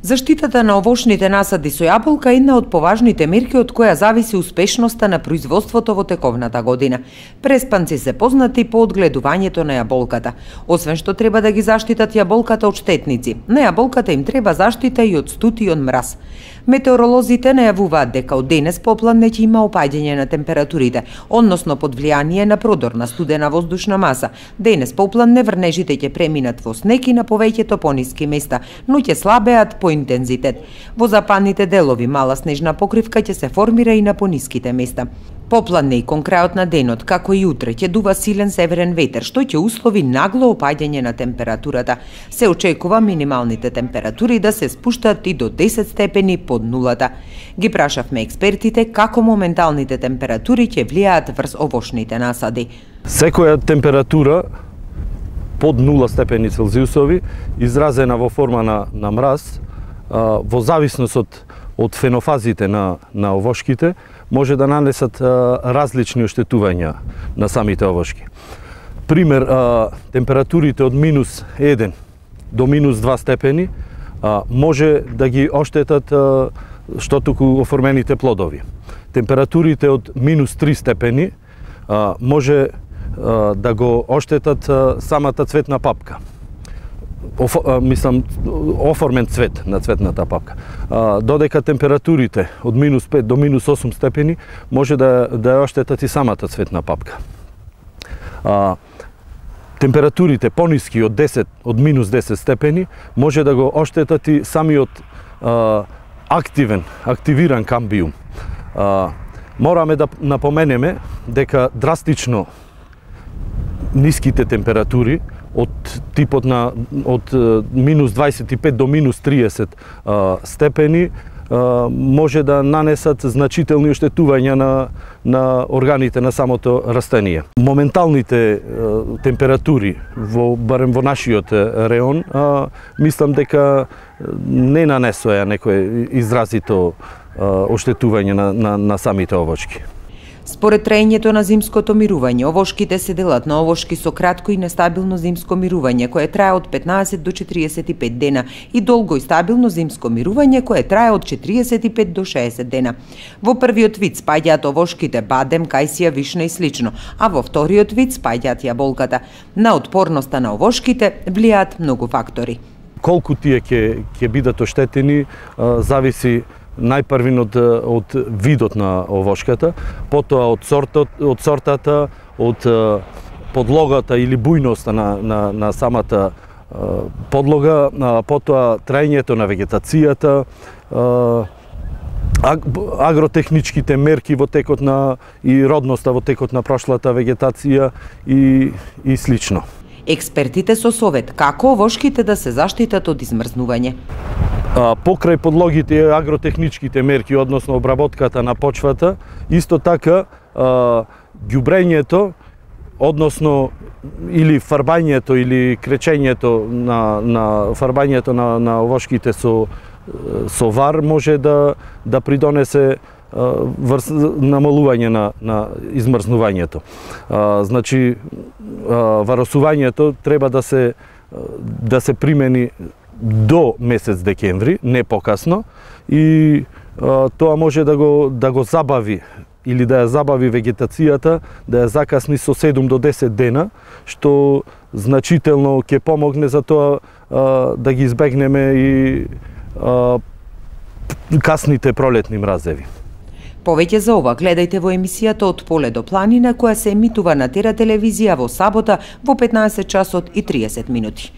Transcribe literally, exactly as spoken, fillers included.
Заштитата на овошните насади со јаболка е една од поважните мерки од која зависи успешноста на производството во тековната година. Преспанци се познати по одгледувањето на јаболката. Освен што треба да ги заштитат јаболката од штетници, на јаболката им треба заштита и од студ и од мраз. Метеоролозите најавуваат дека од денес попладне ќе има опаѓање на температурите, односно под влијание на продорна студена воздушна маса. Денес попладне врнежите ќе преминат во снег и на повеќето пониски места, но ќе слабеат по интензитет. Во западните делови мала снежна покривка ќе се формира и на пониските места. Попладне и кон крајот на денот, како и утре, ќе дува силен северен ветер, што ќе услови нагло опаѓање на температурата. Се очекува минималните температури да се спуштат и до десет степени под нулата. Ги прашавме експертите како моменталните температури ќе влијаат врз овошните насади. Секоја температура под нула степени Целзиусови, изразена во форма на, на мраз, во зависност од, од фенофазите на, на овошките, може да нанесат а, различни оштетувања на самите овошки. Пример, а, температурите од минус еден до минус два степени а, може да ги оштетат а, што туку оформените плодови. Температурите од минус три степени а, може а, да го оштетат а, самата цветна папка. Оф, а, мислам, оформен цвет на цветната папка. А, додека температурите од минус пет до минус осум степени може да, да ја оштетат и самата цветна папка. А, температурите пониски од десет, од минус десет степени може да го оштетат и самиот а, активен, активиран камбиум. А, мораме да напоменеме дека драстично ниските температури од типот на од минус дваесет и пет до минус триесет а, степени а, може да нанесат значителни оштетувања на, на органите на самото растение. Моменталните а, температури, во, барем во нашиот реон, а, мислам дека не нанесоја некое изразито а, оштетување на, на, на самите овошки. Според траењето на зимското мирување, овошките се делат на овошки со кратко и нестабилно зимско мирување, кое трае од петнаесет до четириесет и пет дена, и долго и стабилно зимско мирување, кое трае од четириесет и пет до шеесет дена. Во првиот вид спаѓаат овошките бадем, кајсија, вишна и слично, а во вториот вид спаѓаат јаболката. На отпорноста на овошките влијаат многу фактори. Колку тие ќе ќе бидат оштетени зависи најпрвин од, од видот на овошката, потоа од сортот, од сортата, од подлогата или бујноста на, на, на самата подлога, потоа траењето на вегетацијата, агротехничките мерки во текот на и родноста во текот на прошлата вегетација и, и слично. Експертите со совет како овошките да се заштитат од измрзнување. А, покрај подлогите и агротехничките мерки, односно обработката на почвата, исто така а, ѓубрењето, односно или фарбањето или кречењето на, на фарбањето на, на овошките со, со вар може да, да придонесе врз намалување на, на измрзнувањето. А, значи, а, варосувањето треба да се, да се примени до месец декември, не покасно, и а, тоа може да го, да го забави или да ја забави вегетацијата, да ја закасни со седум до десет дена, што значително ќе помогне за тоа а, да ги избегнеме и а, касните пролетни мразеви. Повеќе за ова гледајте во емисијата Од поле до планина, која се емитува на Тера телевизија во сабота во петнаесет часот и триесет минути.